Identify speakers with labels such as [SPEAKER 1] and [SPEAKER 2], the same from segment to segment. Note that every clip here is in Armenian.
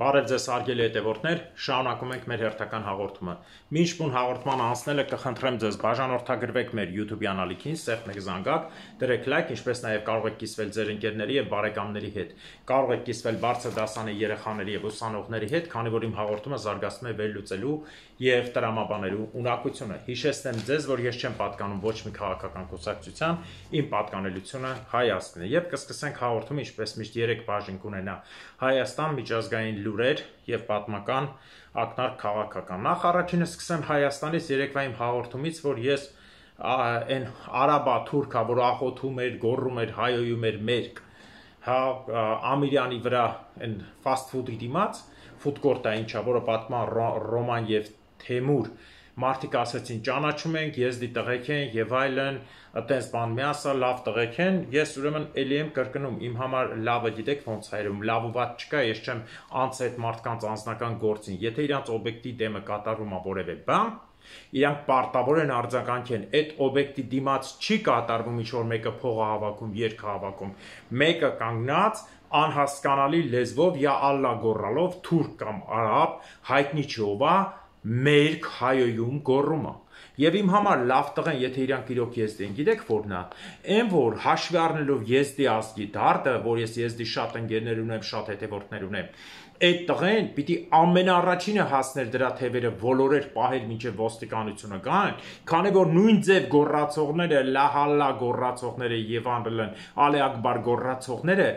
[SPEAKER 1] Բարև ձեզ հարգելի հետևորդներ, շարունակում ենք մեր հերթական հաղորդումը։ Մինչ բուն հաղորդման անցնելը կխնդրեմ ձեզ բաժանորդագրվեք մեր YouTube-յան ալիքին, սեղմ եք զանգակ, դրեք լայք, ինչպես նաև կարող եք կիսվել ձեր ընկերների եւ բարեկամների հետ։ Կարող եք կիսվել բարձր դասանի երեխաների եւ ուսանողների հետ, քանի որ իմ հաղորդումը զարգացնում է վերլուծելու եւ տրամաբանելու ունակությունը։ Հիշեցնեմ ձեզ, որ ես չեմ պատկանում ոչ մի քաղաքական կուսակցության, իմ պատկանելությունը Հայաստանն է։ Եվ կսկսենք հաղորդումը, ինչպես միշտ 3 բաժին կունենա Հայաստան, միջազգային լուրեր եւ պատմական ակնարկ քաղաքական։ Նախ առաջինը սկսեմ Հայաստանից երեկվա իմ հաղորդումից, որ ես այն արաբա թուրքա, որ աղոթում էր, գոռում էր, հայոյում էր մերկ, հա Ամիրյանի վրա այն ֆաստ ֆուդի դիմաց, ֆուդկորտը ինչա, որը պատմա Ռոման եւ Թեմուր, մարդիկ ասեցին ճանաչում ենք, եզդի տղեկ են եւ այլն, այտենց բան մի ասա, լավ տղեկ են, ես ուրեմն էլի եմ կրկնում, իմ համար լավը գիտեք ոնց հայերում, լավ ու վատ չկա, ես չեմ անց այդ մարդկանց անձնական գործին, եթե իրանց օբյեկտի դեմը կատարվում է որևէ բան, իրանք պարտավոր են արձագանքեն, այդ օբյեկտի դիմաց չի կատարվում ինչ-որ մեկը փող հավաքում, երգ հավաքում, մեկը կանգնած անհասկանալի լեզվով յա ալլա գոռալով թուրք կամ արաբ, հայտնի չովա, մերկ հայոյում գոռումը։ Եվ իմ համար լավ տղեն, եթե իրանք իրոք եզդի են, գիտեք որն է, այն որ հաշվի առնելով եզդի ազգի դարդը, որ ես եզդի շատ ընկերներ ունեմ, շատ հետևորդներ ունեմ, այդ տղեն պիտի ամենաառաջինը հասներ դրա թևերը ոլորեր պահել մինչև ոստիկանությունը գան, քանի որ նույն ձև գոռացողները, լահալլա գոռացողները եւ անրլն ալե ակբար գոռացողները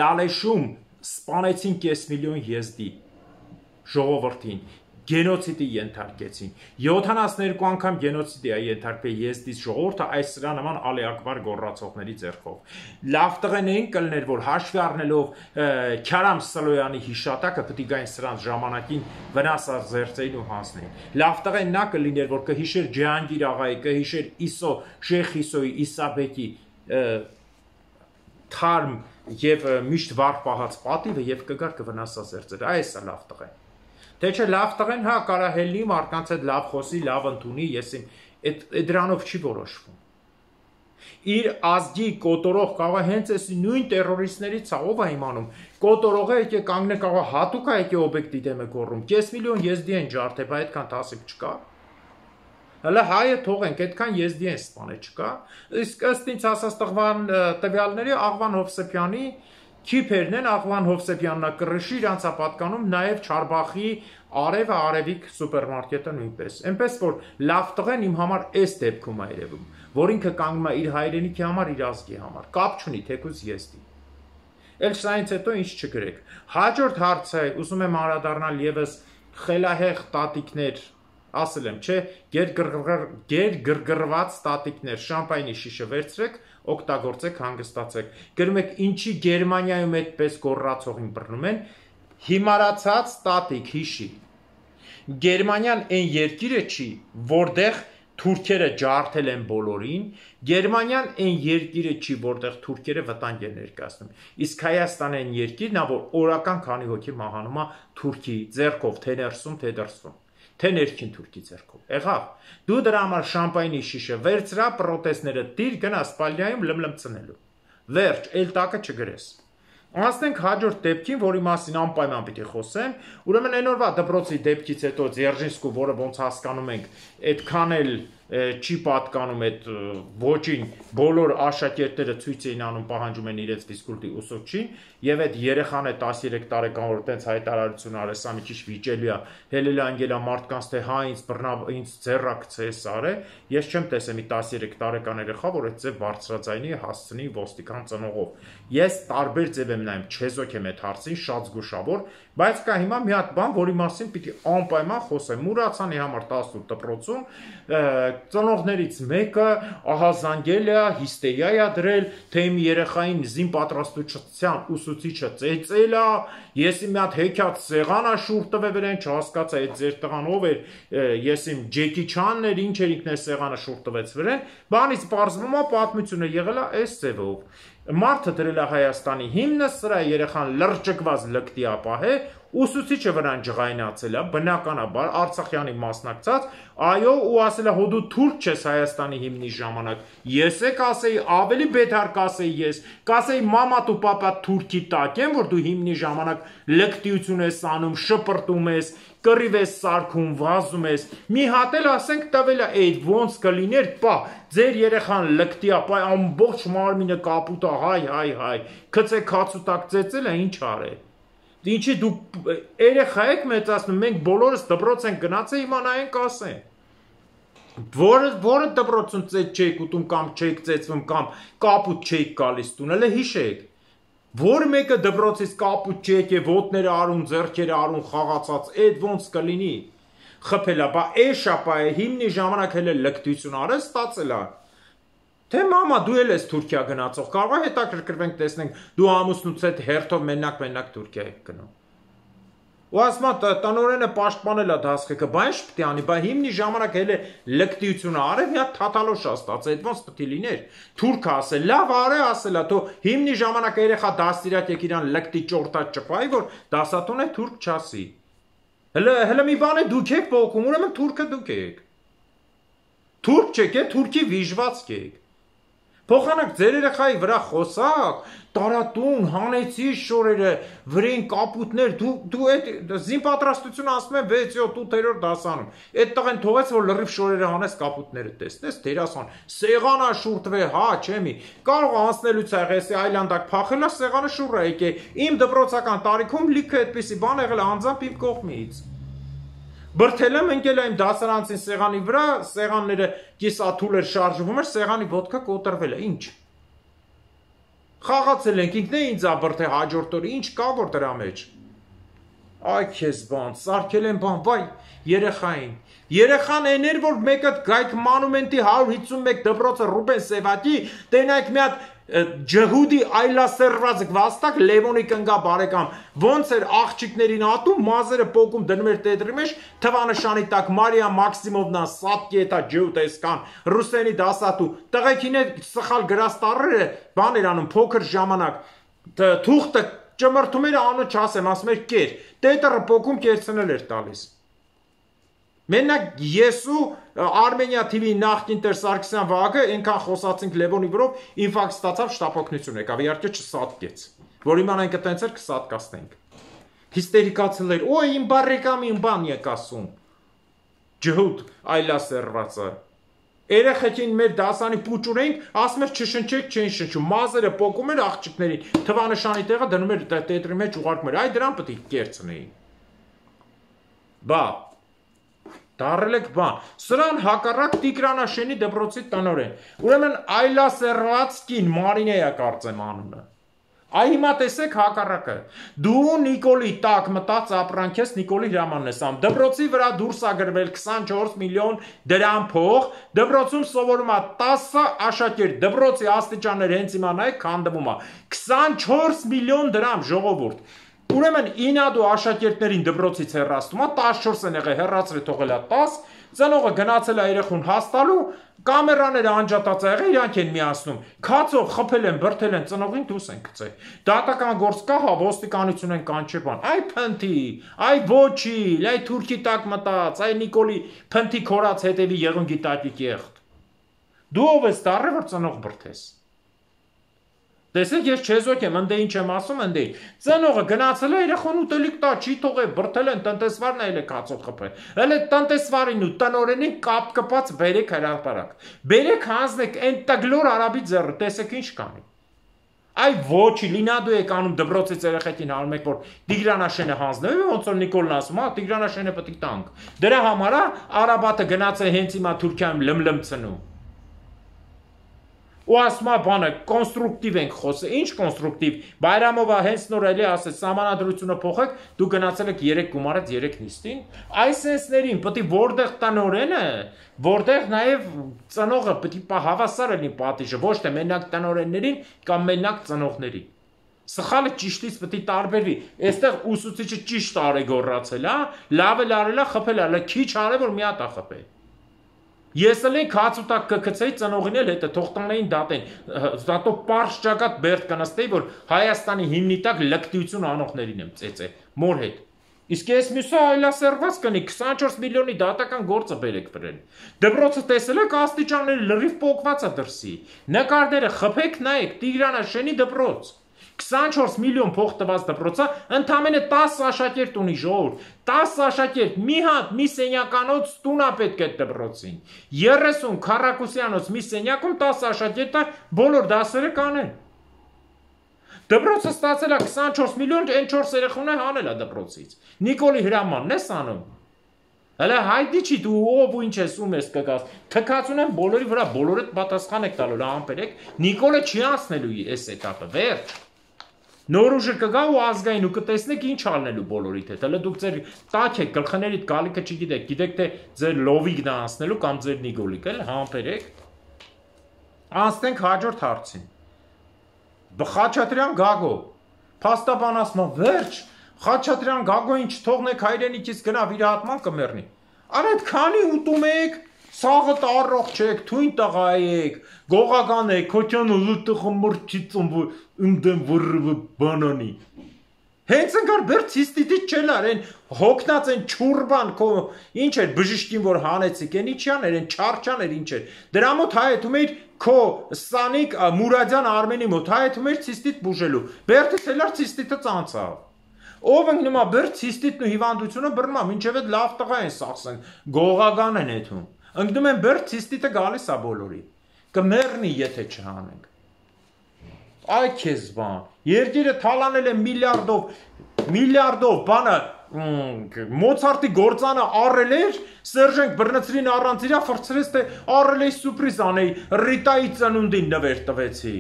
[SPEAKER 1] լալեշում սպանեցին կես միլիոն եզդի ժողովրդին, գենոցիդի ենթարկեցին, 72 անգամ գենոցիդի է ենթարկվել եզդից ժողովուրդը այս սրա նման ալե ակբար գոռացողների ձեռքով։ Լավ տղեն էին կլներ, որ հաշվի առնելով Քարամ Սլոյանի հիշատակը պետք է գային սրանց ժամանակին վնասած զերծեին ու հանձնեին։ Լավ տղեն նա կլիներ, որ կհիշեր Ջահանգիր աղայի, կհիշեր Իսո, Շեյխ Իսոյի, Իսաբեկի թարմ եւ միշտ վառ պահած պատիվը եւ կգար կվնասազերծեր։ Այս է լավ տղեն։ Թե չէ լավ տղեն, հա, կարահելի մարդկանց հետ լավ խոսի, լավ ընդունի, ես դրանով չի որոշվում։ Իր ազգի կոտորող կարող է հենց էս նույն տերորիստներից է, ով է իմանում, կոտորողը եկե կանգնե կարող հատուկ է եկե օբյեկտի դեմ է գոռում, կես միլիոն եզդի են ջարդե, բա այդքան տասիք չկա։ Հələ հայը թողենք, այդքան եզդի են սպանել, չկա։ Իսկ ըստ ինձ ասած տվյալների Աղվան Հովսեփյանի քիփերն են, Աղվան Հովսեփյանն է կռշի, իրանց է պատկանում նաև Չարբախի Արևը Արևիկ սուպերմարկետը նույնպես։ Էնպես որ լավ տղեն իմ համար էս դեպքում է երևում, որ ինքը կանգնում է իր հայրենիքի համար, իր ազգի համար, կապ չունի թեկուզ եզդի։ Էլ սրանից հետո ինչ չգրեք։ Հաջորդ հարցը, ուզում եմ անդրադառնալ եւս խելահեղ տատիկներ, ասել եմ, չէ, գերգրգռված տատիկներ, շամպայնի շիշը վերցրեք, օգտագործեք, հանգստացեք։ Գրում եք, ինչի Գերմանիայում այդպես գոռացողին բռնում են, հիմարացած տատիկ հիշի։ Գերմանիան այն երկիրը չի, որտեղ թուրքերը ջարդել են բոլորին, Գերմանիան այն երկիրը չի, որտեղ թուրքերը վտանգ են ներկայացնում։ Իսկ Հայաստանը այն երկիրն է, որ օրական քանի հոգի մահանում է թուրքի ձեռքով, թե ներսում, թե դրսում։ Թե ներքին թուրքի ձեռքով։ Եղավ։ Դու դրա համար շամպայնի շիշը վերցրա, պրոտեստները դիր գնա Սպալիայում լմլմցնելու։ Վերջ, էլ տակը չգրես։ Անցնենք հաջորդ դեպքին, որի մասին անպայման պիտի խոսեմ, ուրեմն այն օրվա դպրոցի դեպքից հետո Ձերժինսկու, որը ոնց հասկանում ենք, այդքան էլ չի պատկանում այդ ոչին, բոլոր աշակերտները ցույց էին անում, պահանջում են իրենց ֆիզկուլտի ուսուցչին, եւ այդ երեխան է 13 տարեկան, որ այդպես հայտարարություն արեց, սա մի քիչ վիճելի է, հելել անգելա մարդկանց, թե հա ինձ ձեռակցես արե, ես չեմ տեսել մի 13 տարեկան երեխա, որ այդ ձև բարձրաձայնի հասցնի ոստիկան ծնողով։ Ես տարբեր ձև եմ նայում, չեզոք եմ այդ հարցին, շատ զգուշավոր, բայց կա հիմա մի հատ բան, որի մասին պիտի անպայման խոսեմ։ Մուրացանի համար 18 դպրոցում ծնողներից մեկը ահազանգել է, հիստերիա է դրել, թե իմ երեխային զին պատրաստության ուսուցիչը ծեծել է, ես իմ մի հատ հեքիաթ սեղան է շուրջ տվել վրան, չհասկացա այդ ձեր տղան ով էր, ես իմ Ջեկի Չանն էր, ինչ էր ինքն է սեղանը շուրջ տվեց վրան, բանից պարզվում է պատմությունը եղել է այս ձևով։ Մարդը դրել է Հայաստանի հիմնը, սրա երեխան լրջկված լկտի ապահ է Ուսուցիչը վրան ջղայնացել է, բնականաբար Արցախյանի մասնակցած, այո, ու ասել է հո դու թուրք չես Հայաստանի հիմնի ժամանակ, ես է կասեի, ավելի բետար կասեի ես, կասեի մամատ ու պապատ թուրքի տակ են, որ դու հիմնի ժամանակ լկտիություն ես անում, շպրտում ես, կռիվ ես սարքում, վազում ես, մի հատ էլ ասենք տվել է, այդ ոնց կլիներ, պա, ձեր երեխան լկտի է, պա, ամբողջ մարմինը կապուտ է, հայ, քծե քացուտակ ծեծել է, ինչ արե։ Ինչի դու երեխա եք մեծացնում, մենք բոլորս դպրոց ենք գնացել, հիմա նայենք ասեն։ Որը դպրոցում ծեծ չեք ուտում կամ չեք ծեծվում կամ կապուտ չեք գալիս տուն, հələ հիշեք։ Որ մեկը դպրոցից կապուտ չեք եւ ոտները արուն, ձեռքերը արուն խաղացած, այդ ոնց կլինի։ Խփելա, բա էշապա է, հիմնի ժամանակ հələ լկտություն արել, ստացել է։ Թե մամա դու էլ ես Թուրքիա գնացող, կարող է հետաքրքրվենք տեսնենք, դու ամուսնուց հետ հերթով մենակ Թուրքիա եք գնում։ Ու ասма տնօրենը պաշտպանել է դասղեկը, բա ինչ պետք է անի, բա հիմնի ժամանակ հələ լկտիությունը արել, մի հատ թաթալոշ ստացել, այդ ոնց պետք է լիներ։ Թուրքը ասել, լավ արե ասելա, թո հիմնի ժամանակ երեխա դաստիարակ եք իրան լկտի ճորտած ճպայի, որ դասատուն է թուրք չասի։ Հələ մի բան է դուք եք փոխում, ուրեմն թուրքը դուք եք։ Թուրք չեք, թուրքի վիժվածք եք։ Փոխանակ ձեր երեխայի վրա խոսակ, տարատուն, հանեցի շորերը, վրեն կապուտներ, դու այդ զինպատրաստությունը ասում են 6-7-8-րդ դասանում։ Այդ տղեն թողեց, որ լրիվ շորերը հանես կապուտները տեսնես, դերասան, սեղանը շուրտվե, հա, չեմի։ Կարող անցնելուց եղեսի այլանդակ փախելա, սեղանը շուռ է եկե։ Իմ դպրոցական տարիքում լիքը այդպիսի բան եղել է անձամբ իմ կողմից։ Բրթել եմ ընկել եմ դասարանցին սեղանի վրա, սեղանները կիսաթուլ էր շարժվում էր, սեղանի ոտքը կոտրվել է, ինչ։ Խաղացել ենք, ինքն է ինձ աբրթե հաջորդ օրը, ինչ կա որ դրա մեջ։ Այ քեզ բան, սարքել եմ բան, վայ, երեխային։ Երեխան այն էր, որ մեկը գայք մանումենտի 151 դպրոցը Ռուբեն Սևակի, տենայք մի հատ ջհուդի այլասերված վաստակ Լևոնի կնգա բարեկամ ոնց էր աղջիկներին ատում մազերը պոկում դնում էր տետրի մեջ թվանշանի տակ Մարիա Մաքսիմովնա Սատկետա ջուտեսկան ռուսերի դասատու տղեկին է սխալ գրած տառերը բան էր անում փոքր ժամանակ թուղթը ճմրթում էր անունը չասեմ ասում էր կեր տետրը պոկում կերցնել էր տալիս Մենակ ես ու Armenia TV նախկին Տեր Սարգսյան Վահագը այնքան խոսացինք Լևոնի վրով ինֆարկտ ստացավ շտապօգնություն եկավ իհարկե չսատկեց որ իմանանք այտենց էր կսատկացնենք հիստերիկացել էր օ իմ բարեկամ իմ բան եք ասում ջհուդ այլասերվածը երեխեքին մեր դասանի պուճուրենք ասում էր չշնչեք չեն շնչում մազերը պոկում էր աղջիկներին թվանշանի տեղը դնում էր տետրի մեջ ուղարկում էր այ դրան պետք է կերցնեին բա Դարել եք բան, սրան հակառակ Տիգրանաշենի դպրոցի տնօրեն, ուրեմն այլասերված կին Մարինեյա կարծեմ անունը, այ հիմա տեսեք հակառակը, դու Նիկոլի տակ մտած ապրանք ես Նիկոլի հրամանն ես անում, դպրոցի վրա դուրս ա գրվել 24 միլիոն դրամ փող, դպրոցում սովորում ա 10 աշակերտ, դպրոցի աստիճաններ հենց հիմա նայեք քանդվում ա, 24 միլիոն դրամ ժողովուրդ, Ուրեմն ինադու աշակերտներին դպրոցից հեռացնում է 14 են եղել հեռացրել թողել է 10 ծնողը գնացել է երեխուն հաստալու կամերաները անջատած եղել իրանք են միացնում քացով խփել են բրթել են ծնողին դուրս են գցել դատական գործ կա հա ոստիկանություն են կանչել բան այ փնթի այ ոչի այ թուրքի տակ մտած այ Նիկոլի փնթի քորած հետևի եղունգի տակիկ եղտ դու ով ես դառը որ ծնող բրթես Տեսեք ես չեզոք եմ, ընդե ինչ եմ ասում, ընդե ծնողը գնացել է երեխան ուտելիք տա, չի թողել, բրթել են, տնտեսվարն էլ է կացով խփել, էլ է տնտեսվարին ու տնօրենին կապ կպած բերեք հրապարակ, բերեք հանձնեք, են տգլոր արաբի ձեռը, տեսեք ինչ կանի, այ ոչի, լինադու եք անում դպրոցից երեխեքին հանում եք, որ Տիգրանաշենը հանձնեմ, ոնց որ Նիկոլն ասում, հա, Տիգրանաշենը պետք է տանք, դրա համար Արաբատը գնաց է հենց հիմա Թուրքիայում լմլմցնում Ու ասմա բանը կոնստրուկտիվ ենք խոսը, ինչ կոնստրուկտիվ, Բայրամովա հենց նոր էլի ասեց, սահմանադրությունը փոխեք, դու գնացել եք 3 գումարած 3 նիստին, այս սենսներին պետք է որտեղ տնօրենը, որտեղ նաև ծնողը պետք է հավասար լինի պատիժը, ոչ թե մենակ տնօրեններին կամ մենակ ծնողներին։ Սխալը ճիշտից պետք է տարբերվի։ Այստեղ ուսուցիչը ճիշտ արե գոռացել, հա, լավ էլ արել է, խփել է, քիչ արե որ մի հատ է խփել։ Ես էլ են քացուտակ կգցեի ծնողին էլ հետը թող տանեին դատեն դատո պարզ ճակատ բերդ կնստեի որ Հայաստանի հիմնի տակ լկտիություն անողներին եմ ծեծե մոր հետ Իսկ ես մյուսը այլասերված կնի 24 միլիոնի դատական գործը բերեք վրեն։ Դպրոցը տեսել եք աստիճանների լրիվ պոկված է դրսի։ Նկարները խփեք նայեք Տիգրանաշենի դպրոց։ 24 միլիոն փող տված դպրոցը ընդամենը 10 աշակերտ ունի ժողովուրդ։ 10 աշակերտ մի հատ մի սենյականոց տուն է պետք է դպրոցին։ 30 քառակուսյանոց մի սենյակում 10 աշակերտը բոլոր դասերը կանեն։ Դպրոցը ստացել է 24 միլիոն, այն 4 երեխուն է հանել է դպրոցից։ Նիկոլի հրամանն ես անում։ Հələ հայտնի չի դու ով ու ինչ ես ում ես կգաս։ Թքածուն են բոլորի վրա, բոլորը պատասխան եք տալու, ամպերեք։ Նիկոլը չի անցնելու այս էտապը, վերջ։ Նոր ուժը կգա ու ազգային ու կտեսնեք ինչ ալնելու բոլորիդ հետ։ Հələ դուք ձեր տաք եք, գլխներիդ գալիքը չգիտեք, գիտեք թե ձեր լովիգն է անցնելու կամ ձեր նիկոլիկ, էլ համբերեք։ Անցնենք հաջորդ հարցին։ Խաչատրյան Գագո, փաստաբան ասում է, վերջ, Խաչատրյան Գագոին չթողնեք հայրենիքից գնա վիրահատման կմեռնի։ Արա այդ քանի ուտում եք, սաղը տարող չեք, թույն տղա եք, գողական եք, քոչանը լուտը մրճից ընդեմ վրվը բանանի։ Հենց ընկար բերդ սիստիտից չելար, են հոգնած են չուրբան, ինչ էր բժիշկին որ հանեցիք, են իչյան էր, են չարչան էր, ինչ էր, դրա մոտ հայեթում էիր քո Սանիկ Մուրադյան Արմենի մոտ հայեթում էիր սիստիտ բուժելու, բերդից էլար սիստիտը ծանցավ, ով ընկնում է բերդ սիստիտն ու հիվանդությունը բռնում է, մինչև այդ լավ տղա են սախսեն, գողական են եթում, ընկնում են բերդ սիստիտը գալիս է բոլորի, կմեռնի եթե չհանենք, այ քեզ բան, երկիրը թալանել է միլիարդով բանը, Մոցարտի գործանը առել էր, Սերժենք բռնցրին առանց իրա ֆրցրեց, թե առել էի սուպրիզ անեի, Ռիտայի ծնունդին նվեր տվեցի,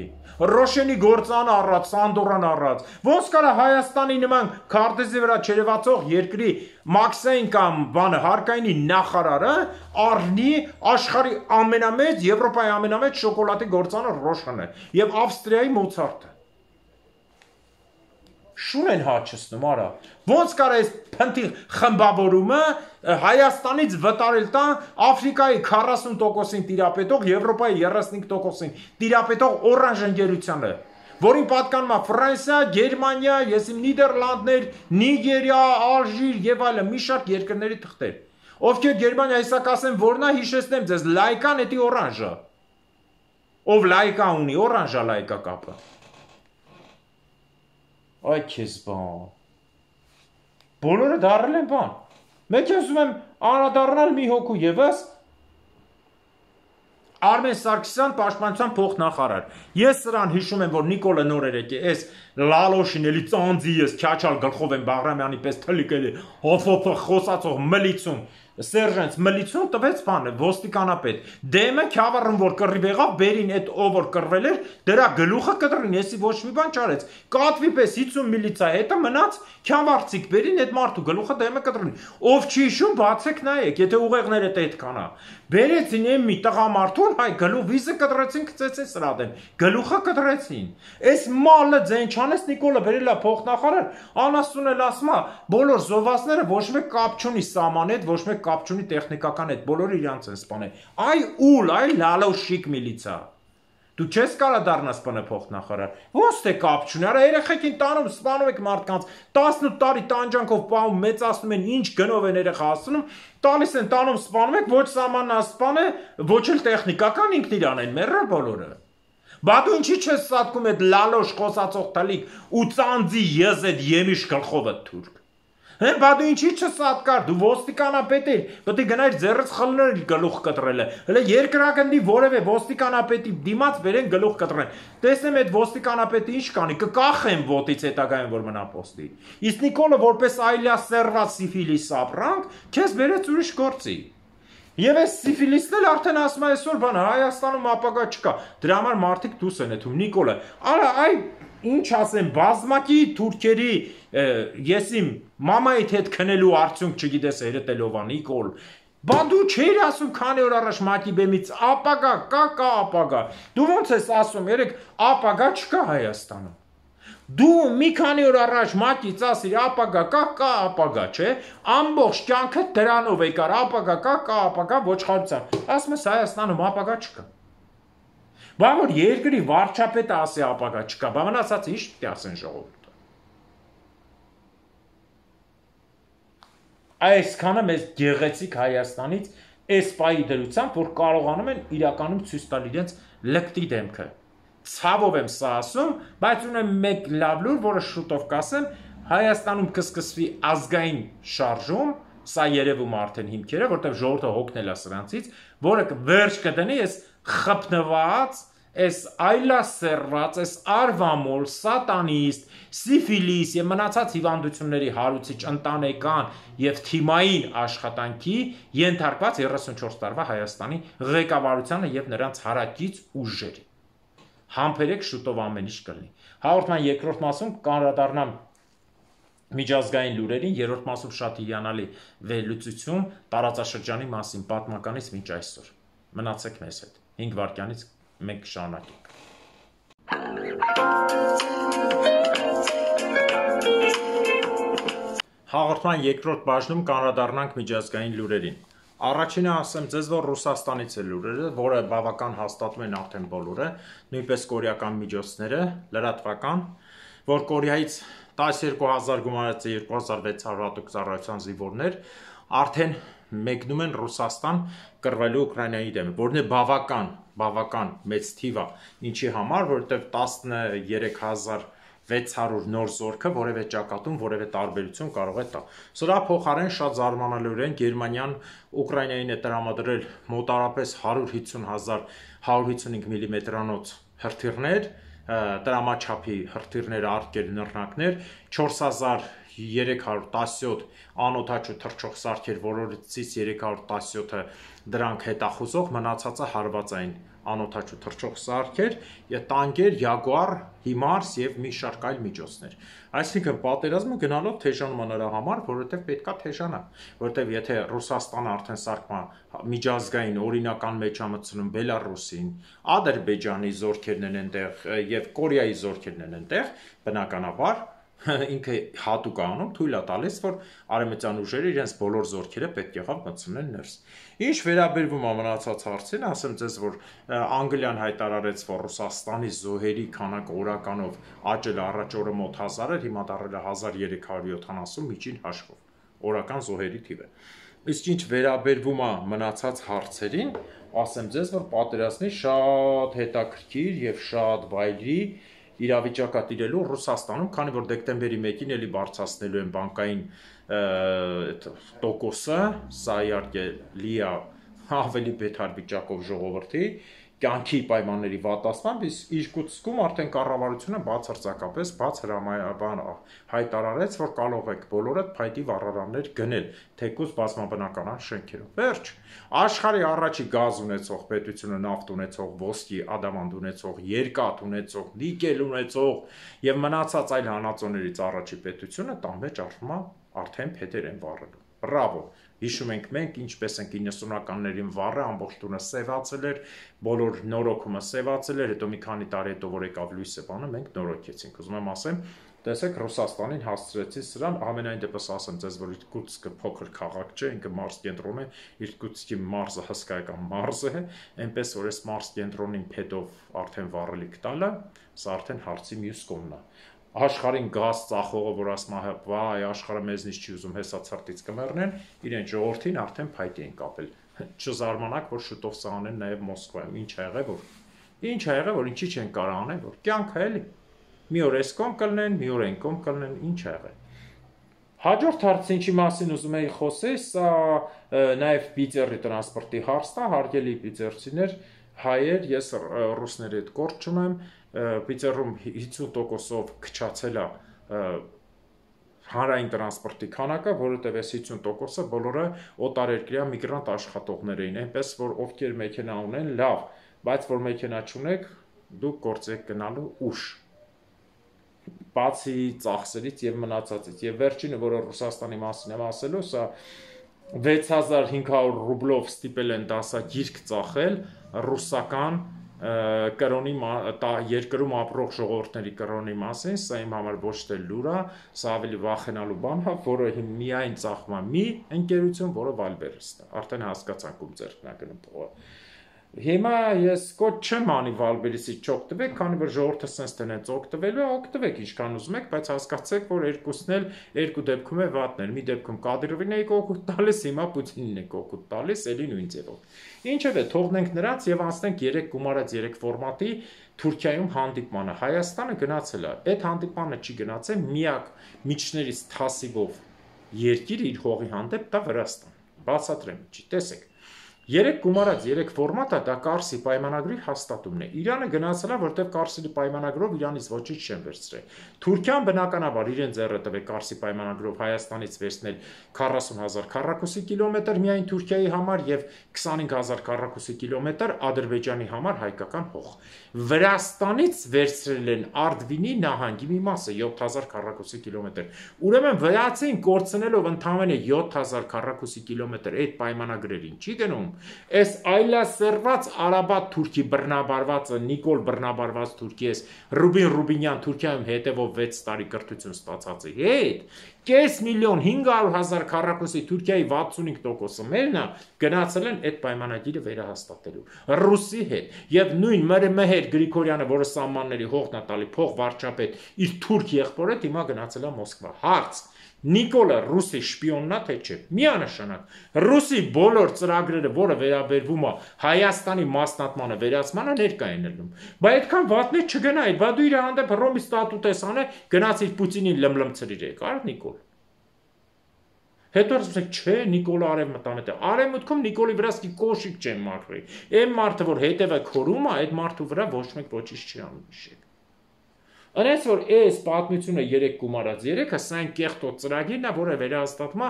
[SPEAKER 1] Ռոշենի գործանը առած, Սանդորան առած, ոնց կարա Հայաստանի նման քարտեզի վրա չերևացող երկրի Մաքսային կամ բանը հարկայինի նախարարը առնի աշխարհի ամենամեծ, Եվրոպայի ամենամեծ շոկոլադի գործանը Ռոշենը եւ Ավստրիայի Մոցարտը Շուն են հաչստում, արա, ոնց կար այս փնթի խմբավորումը Հայաստանից վտարել տան Աֆրիկայի 40%-ին տիրապետող, Եվրոպայի 35%-ին տիրապետող օրանժ ընկերությանը, որին պատկանում է Ֆրանսիա, Գերմանիա, Նիդերլանդներ, Նիգերիա, Ալժիր եւ այլն, մի շարք երկրների թղթեր, ովքեր Գերմանիա հեսա կասեն, որնա հիշեցնեմ ձեզ, լայկան էդի օրանժը, ով լայկա ունի, օրանժա լայկա կապը Այ քեզ բան, բոլորը դարել են բան, մեկ ասում եմ անդրադառնալ մի հոգու ևս, Արմեն Սարգսյան պաշտպանության փոխնախարար, ես սրան հիշում եմ, որ Նիկոլը նոր էր եկե, ես լալոշին էլի ծանձի ես, քյաչալ գլխով եմ Բաղրամյանի պես թլիկ էլի, հոփոփ խոսացող մլիցում, Սերժենց մլիցում տվեց բանը, ոստիկանապետ, դեմը քյավառում որ կռիվ եղավ, բերին այդ ով որ կռվել էր, դրա գլուխը կտրին, եսի ոչ մի բան չարեց, կատվի պես 50 միլիցա հետը մնաց, քյավառցիկ բերին այդ մարդու գլուխը դեմը կտրին, ով չի հիշում, բացեք նայեք, եթե ուղեղները այդքան է, բերեցին եմ մի տղամարդուն, հայ գլուխ վիզը կտրեցին, գցեցին սրադեն, գլուխը կտրեցին, այս մալը ձեն չանես Նիկոլը բերել է փոխնախարար, անասուն էլ ասում է, բոլոր զովասները ոչ մեկ կապ չունի սաման հետ, ոչ մեկ կապ չունի տեխնիկական հետ, բոլորը իրանց են սպանել, այ ուլ, այ լալոշիկ միլիցա, դու չես կարա դառնաս սպանը փոխնախարար, ոնց թե կապ չունի, արա երեխեքին տանում, սպանում եք մարդկանց, 18 տարի տանջանքով պահում, մեծացնում են, ինչ գնով են երեխա հասնում, տալիս են տանում, սպանում եք, ոչ սամանն ասպան է, ոչ էլ տեխնիկական ինքն իրան են մեռել բոլորը, բա դու ինչի չես սատկում այդ լալոշ խոսացող տալիք ու ծանձի եզ այդ եմիշ գլխովը թուրք, Բա դու ինչի չսատկար, դու ոստիկանապետ էր, պետք է գնայր ձեռս խլներ գլուխ կտրելը, հələ երկրագնդի որևէ ոստիկանապետի դիմաց բերեն գլուխ կտրեն, տեսնեմ այդ ոստիկանապետը ինչ կանի, կկախեմ ոտից հետագայում որ մնա պոստի, իսկ Նիկոլը որպես այլասերված սիֆիլիս ապրանք, քեզ բերեց ուրիշ գործի, Եվ այս սիֆիլիսն էլ արդեն ասում է այսօր բան Հայաստանում ապագա չկա, դրա համար մարդիկ դուս են եթում, Նիկոլը, արա այ ինչ ասեմ, բազմակի թուրքերի ես իմ մամայիդ հետ քնելու արդյունք չգիտես երետելով ան Նիկոլ, բա դու չէիր ասում քանի օր առաջ մակի բեմից ապագա կա ապագա, դու ոնց ես ասում երեք ապագա չկա Հայաստանում, դու մի քանի օր առաջ մակից ասիր ապագա կա ապագա, չէ, ամբողջ կյանքը դրանով եկար ապագա կա ապագա ոչխարությամբ, ասում ես Հայաստանում ապագա չկա, բա որ երկրի վարչապետը ասի ապագա չկա, բա մնացած ինչ պետք է ասեն ժողովուրդը, Այսքանը մեզ գեղեցիկ Հայաստանից այս պայի դրությամբ, որ կարողանում են իրականում ցույց տալ իրենց լկտի դեմքը։ Ցավով եմ սա ասում, բայց ունեմ մեկ լավ լուր, որը շուտով կասեմ, Հայաստանում կսկսվի ազգային շարժում, սա երևում արդեն հիմքերը, որտեղ ժողովուրդը հոգնել է սրանցից, որը վերջ կդնի այս խփնված, այս այլասերված, այս արվամոլ, սատանիստ, սիֆիլիս եւ մնացած հիվանդությունների հարուցիչ ընտանեկան եւ թիմային աշխատանքի ենթարկված 34 տարվա Հայաստանի ղեկավարությանը եւ նրանց հարակից ուժերի։ Համբերեք, շուտով ամեն ինչ կլինի։ Հաղորդման երկրորդ մասում կանդրադառնամ միջազգային լուրերին, երրորդ մասում շատ հիանալի վերլուծություն տարածաշրջանի մասին, պատմականից մինչ այսօր։ Մնացեք մեզ հետ։ 5 վայրկյանից մենք շարունակենք։ Հաղորդման երկրորդ բաժնում կանդրադառնանք միջազգային լուրերին։ Առաջինը ասեմ ձեզ, որ Ռուսաստանից է լուրերը, որը բավական հաստատում են արդեն բոլորը, նույնպես կորեական միջոցները, լրատվական, որ Կորեայից 12,000 գումարած 2,600 հատուկ ծառայության զինվորներ արդեն մեկնում են Ռուսաստան կռվելու Ուկրաինայի դեմ, որն է բավական մեծ թիվ է, ինչի համար, որովհետև 13,600 նոր զորքը որևէ ճակատում, որևէ տարբերություն կարող է տա։ Սրա փոխարեն շատ զարմանալիորեն Գերմանիան Ուկրաինային է տրամադրել մոտարապես 150,000 155 մմ հրթիռներ, տրամաչափի հրթիռներ, արկեր, նռնակներ, 4317 անօդաչու թռչող սարքեր, որոնցից 317-ը դրանք հետախուզող, մնացածը հարվածային անօդաչու թռչող սարքեր, տանկեր, Յագուար, Հիմարս եւ մի շարք այլ միջոցներ։ Այսինքն պատերազմը գնալով թեժանում է նրա համար, որովհետեւ պետքա թեժանա, որովհետեւ եթե Ռուսաստանը արդեն սարքման միջազգային օրինական մեջ է մտցնում Բելարուսին, Ադրբեջանի զորքերն են այնտեղ եւ Կորեայի զորքերն են այնտեղ, բնականաբար ինքը հատուկ անում թույլ է տալիս, որ արևմտյան ուժերը իրենց բոլոր զորքերը պետք եղավ մտցնեն ներս։ Ինչ վերաբերվում է մնացած հարցին, ասեմ ձեզ, որ Անգլիան հայտարարեց, որ Ռուսաստանի զոհերի քանակը օրականով աճել է առաջ օրը մոտ 1000 էր, հիմա դառել է 1370 միջին հաշվով օրական զոհերի թիվը։ Իսկ ինչ վերաբերվում է մնացած հարցերին, ասեմ ձեզ, որ պատերազմի շատ հետաքրքիր եւ շատ վայրի իրավիճակա տիրելու Ռուսաստանում, քանի որ դեկտեմբերի 1-ին էլի բարձրացնելու են բանկային տոկոսը, սա իհարկե լի է ավելի բետար վիճակով ժողովրդի կյանքի պայմանների վատացմամբ, իսկ Իրկուտսկում արդեն կառավարությունը բացարձակապես բաց հայտարարեց, որ կարող եք բոլորդ փայտի վառարաններ գնել, թեկուզ բազմաբնականան շենքերով։ Վերջ, աշխարհի առաջի գազ ունեցող պետությունը, նավթ ունեցող, ոսկի, ադամանդ ունեցող, երկաթ ունեցող, նիկել ունեցող եւ մնացած այլ հանածոներից առաջի պետությունը տան մեջ արդեն փետեր են վառելու։ Բրավո։ Հիշում ենք մենք, ինչպես ենք 90-ականներին վառը, ամբողջ տունը սևացել էր, բոլոր նորոգումը սևացել էր, հետո մի քանի տարի հետո որ եկավ լույսը բանը, մենք նորոգեցինք։ Ուզում եմ ասեմ, տեսեք Ռուսաստանին հասցրեցի սրան, ամենայն դեպս ասեմ ձեզ, որ Իրկուտսկը փոքր քաղաք չէ, ինքը մարզ կենտրոն է, Իրկուտսկի մարզը հսկայական մարզ է, այնպես որ այս մարզ կենտրոնին փետով արդեն վառելիք տալը, սա արդեն հարցի մյուս կողմն է։ Աշխարհին գազ ծախողը, որ ասում է, վայ, աշխարհը մեզնից չի ուզում, հեսա ցրտից կմեռնեն, իրեն ժողովրդին արդեն փայտի են կապել։ Չզարմանաք, որ շուտով սա անեն նաև Մոսկվայում։ Ինչ ա եղել, որ ինչի չեն կարող անել, որ կյանք է էլի։ Մի օր այս կողմ կլնեն, մի օր այն կողմ կլնեն, ինչ ա եղել։ Հաջորդ հարցը ինչի մասին ուզում էի խոսել, սա նաև Պիծերի տրանսպորտի հարցն է, հարգելի պիծերցիներ, հայեր, ես ռուսների հետ գործ չունեմ, Պիծերում 50%-ով քչացել է հանրային տրանսպորտի քանակը, որովհետև այս 50%-ը բոլորը օտարերկրյա միգրանտ աշխատողներ էին, այնպես որ ովքեր մեքենա ունեն, լավ, բայց որ մեքենա չունեք, դուք գործ եք գնալու ուշ։ Բացի ծախսերից եւ մնացածից։ Եվ վերջինը, որը Ռուսաստանի մասին եմ ասելու, սա 6500 ռուբլով ստիպել են դասագիրք ծախել ռուսական կրոնի երկրում ապրող ժողովուրդների կրոնի մասին, սա իմ համար ոչ թե լուր է, սա ավելի վախենալու բան է, որը միայն ծախում է մի ընկերություն, որը Վալբերեսն է, արդեն հասկացանք ում ձեռքն է գնում փողը։ Հիմա ես կոչ չեմ անի Վալբերիսից չօգտվեք, քանի որ ժողովուրդը sense տնեց օգտվելու է, օգտվեք ինչքան ուզում եք, բայց հասկացեք, որ երկուսն էլ երկու դեպքում է վատն էր։ Մի դեպքում Կադիրովին եք օգուտ տալիս, հիմա Պուտինին եք օգուտ տալիս, էլի նույն ձևով։ Ինչևէ, թողնենք նրանց եւ անցնենք 3 գումարած 3 ֆորմատի Թուրքիայում հանդիպմանը։ Հայաստանը գնացել է։ Այդ հանդիպմանը չի գնացել միակ միջներից թասիվով երկիր իր հողի հանդեպ դա Վրաստան։ Բացատրեմ ինչի, տեսեք։ 3 գումարած 3 ֆորմատը դա Կարսի պայմանագրի հաստատումն է։ Իրանը գնացել է, որտեղ Կարսի պայմանագրով Իրանից ոչինչ չեն վերցրել։ Թուրքիան բնականաբար իրեն ձեռը տվեց Կարսի պայմանագրով Հայաստանից վերցնել 40,000 քառակուսի կիլոմետր միայն Թուրքիայի համար եւ 25,000 քառակուսի կիլոմետր Ադրբեջանի համար հայկական հող։ Վրաստանից վերցրել են Արդվինի նահանգի մի մասը 7000 քառակուսի կիլոմետր։ Ուրեմն վրացին կորցնելով ընդամենը 7000 քառակուսի կիլոմետր այդ պայմանագրերին չի գնում։ Այս այլասերված Արաբատ Թուրքի բռնաբարվածը Նիկոլ բռնաբարված Թուրքի էս Ռուբին Ռուբինյան Թուրքիայում հետևով 6 տարի կրթություն ստացածի հետ կես միլիոն 500,000 քառակուսի Թուրքիայի 65%-ը մերն է գնացել են այդ պայմանագիրը վերահաստատելու Ռուսի հետ եւ նույն Մեհեր Գրիգորյանը, որը սահմանների հողն է տալի փող վարչապետ իր թուրք եղբորը հիմա գնացել է Մոսկվա։ Հարց. Նիկոլը ռուսի շպիոնն է թե չէ։ Միանշանակ ռուսի բոլոր ծրագրերը, որը վերաբերվում է Հայաստանի մասնատմանը, վերացմանը ներկա են ելնում։ Բայց այդքան վատն է չգնա, բա դու իր հանդեպ Ռոմի ստատուտ ես անել, գնացիր Պուտինին լմլմցրիր եք, արդ Նիկոլ։ Հետո ասում չէ, Նիկոլը արևմտամետ է։ Արևմուտքում Նիկոլի վրա սկի կոշիկ չեն մաքրի։ Այն մարդը, որ հետևը քորում է, այդ մարդու վրա ոչ մեկ ոչինչ չի անում իշեք։ Այնպես որ այս պատմությունը 3 գումարած 3-ը սա այն կեղտոտ ծրագիրն է, որը վերահաստատում է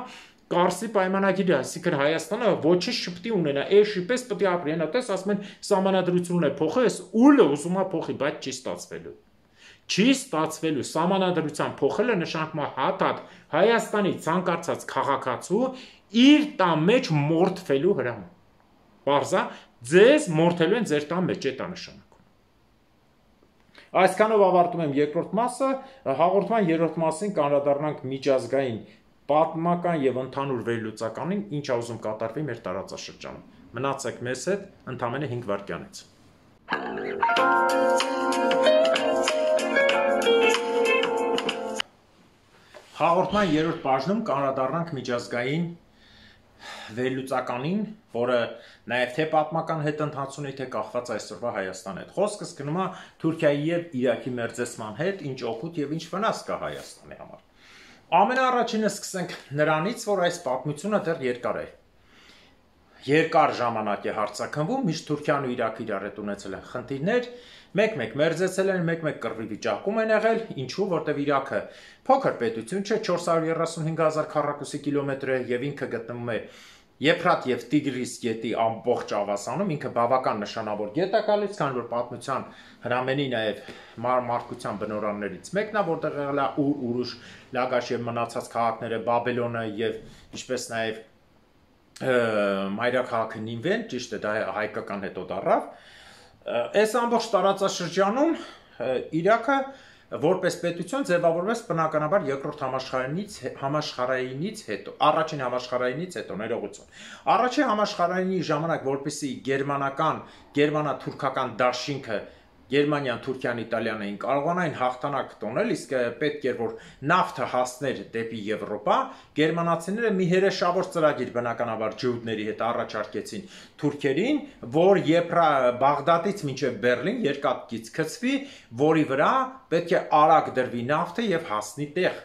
[SPEAKER 1] Կարսի պայմանագիրը, այսինքն Հայաստանը ոչինչ չպետք է ունենա, էշի պես պետք է ապրի, հենա տես ասում են սահմանադրությունն է փոխել, այս ուլը ուզում է փոխի, բայց չի ստացվելու։ Չի ստացվելու սահմանադրության փոխելը նշանակում է հատ Հայաստանի ցանկացած քաղաքացու իր տան մեջ մորթվելու հրաման։ Պարզա ձեզ մորթելու են ձեր տան մեջ, դա նշանակում։ Այսքանով ավարտում եմ երկրորդ մասը, հաղորդման երրորդ մասին կանդրադառնանք միջազգային պատմական եւ ընդհանուր վերլուծականին, ինչ ուզում կատարվի մեր տարածաշրջանում։ Մնացեք մեզ հետ ընդամենը 5 վայրկյանից։ Հաղորդման երրորդ բաժնում կանդրադառնանք միջազգային վերլուծականին, որը նաև թե պատմական հետընթացունի, թե կախված այսօրվա Հայաստանի հետ։ Խոսքս գնում է Թուրքիայի եւ Իրաքի մերձեցման հետ, ինչ օգուտ եւ ինչ վնաս կա Հայաստանի համար։ Ամենաառաջինը սկսենք նրանից, որ այս պատմությունը դեռ երկար է։ Երկար ժամանակ է հարցաքննվում, միշտ Թուրքիան ու Իրաքը իրար հետ ունեցել են խնդիրներ, մեկ-մեկ մերձեցել են, մեկ-մեկ կռվի վիճակում են եղել, ինչու, որտեղ Իրաքը փոքր պետություն չէ, 435,000 քառակուսի կիլոմետր է եւ ինքը գտնվում է Եփրատ եւ Տիգրիս գետի ամբողջ ավասանում, ինքը բավական նշանավոր գետ է գալիս, քանի որ պատմության հրամենի նաեւ մարդկության բնօրաններից մեկն է, որտեղ եղել է Ուրուշ, Լագաշ եւ մնացած քաղաքները, Բաբելոնը եւ ինչպես նաեւ մայրաքաղաքը Նինվեն, ճիշտ է, դա հայկական հետո դառավ։ Այս ամբողջ տարածաշրջանում Իրաքը որպես պետություն ձևավորվեց բնականաբար երկրորդ համաշխարհայինից հետո, առաջին համաշխարհայինից հետո, ներողություն։ Առաջին համաշխարհայինի ժամանակ, որպեսզի գերմանա-թուրքական դաշինքը Գերմանիան, Թուրքիան, Իտալիան էին կարողանային հաղթանակ տոնել, իսկ պետք էր որ նավթը հասներ դեպի Եվրոպա, գերմանացիները մի հրեշավոր ծրագիր բնականաբար ջհուդների հետ առաջարկեցին թուրքերին, որ Բաղդադից մինչև Բերլին երկաթգիծ գցվի, որի վրա պետք է արագ դրվի նավթը եւ հասնի տեղ։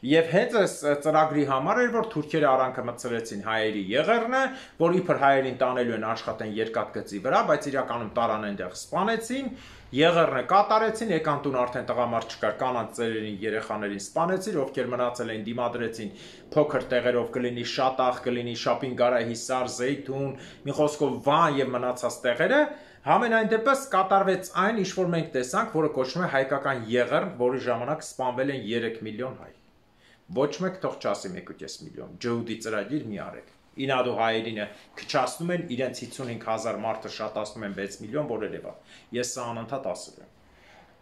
[SPEAKER 1] Եվ հենց այս ծրագրի համար էր, որ թուրքերը արանքը մտցրեցին հայերի եղեռնը, որ իբր հայերին տանելու են աշխատեն երկաթգծի վրա, բայց իրականում տարան այնտեղ սպանեցին, եղեռնը կատարեցին, եկան տուն արդեն տղամարդ չկար, կանանց ծերերին, երեխաներին սպանեցին, ովքեր մնացել էին դիմադրեցին փոքր տեղերով կլինի Շատախ, կլինի Շապինգարա, Հիսար, Զեյթուն, մի խոսքով Վան եւ մնացած տեղերը, համենայն դեպս կատարվեց այն, ինչ որ մենք տեսանք, որը կոչվում է հայկական եղեռն, որի ժամանակ սպանվել են 3 միլիոն հայ։ Ոչ մեկ թող չասի 1.5 միլիոն, ջհուդի ծրագիր մի արեք։ Ինադու հայերինը քչացնում են, իրենց 55,000 մարդը շատացնում են 6 միլիոն, որ երևա։ Ես սա անընդհատ ասել եմ։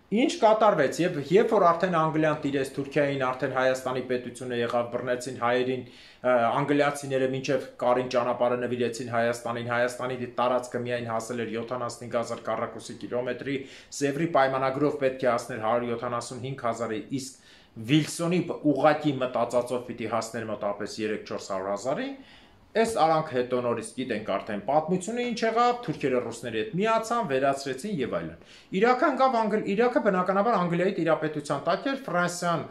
[SPEAKER 1] Ինչ կատարվեց եւ երբ որ արդեն Անգլիան տիրեց Թուրքիային, արդեն Հայաստանի պետությունը եղավ, բռնեցին հայերին, անգլիացիները մինչև Կարին ճանապարհը նվիրեցին Հայաստանին, Հայաստանի տարածքը միայն հասել էր 75,000 քառակուսի կիլոմետրի, Սևրի պայմանագրով պետք է հասներ 175,000-ի, իսկ Վիլսոնի ուղղակի մտածածով պիտի հասներ մոտավորապես 3-400,000-ի, Այս արանք հետո նորից գիտենք արդեն պատմությունը ինչ եղավ, թուրքերը ռուսների հետ միացան, վերացրեցին եւ այլն։ Իրաքը բնականաբար Անգլիայի տիրապետության տակ էր, Ֆրանսիան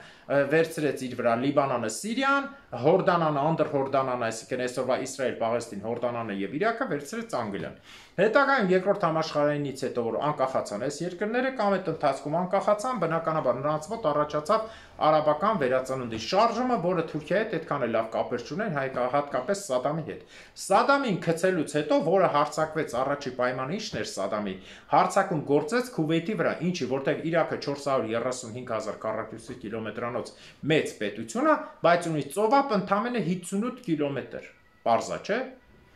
[SPEAKER 1] վերցրեց իր վրա Լիբանանը, Սիրիան, Հորդանանը, Անդրհորդանանը, այսինքն այսօրվա Իսրայել, Պաղեստին, Հորդանանը եւ Իրաքը վերցրեց Անգլիան։ Հետագայում երկրորդ համաշխարհայինից հետո որ անկախացան այս երկրները կամ այդ ընթացքում անկախացան, բնականաբար նրանց մոտ առաջացավ արաբական վերածնունդի շարժումը, որը Թուրքիայի հետ այդքան էլ լավ կապեր չունեն, հատկապես Սադամի հետ։ Սադամին գցելուց հետո, որը հարձակվեց առաջի պայմանը ինչն էր Սադամի, հարձակում գործեց Քուվեյթի վրա, ինչի որտեղ Իրաքը 435,000 քառակուսի կիլոմետրանոց մեծ պետություն է, բայց ունի ծովափ ընդամենը 58 կիլոմետր։ Պարզա, չէ՞։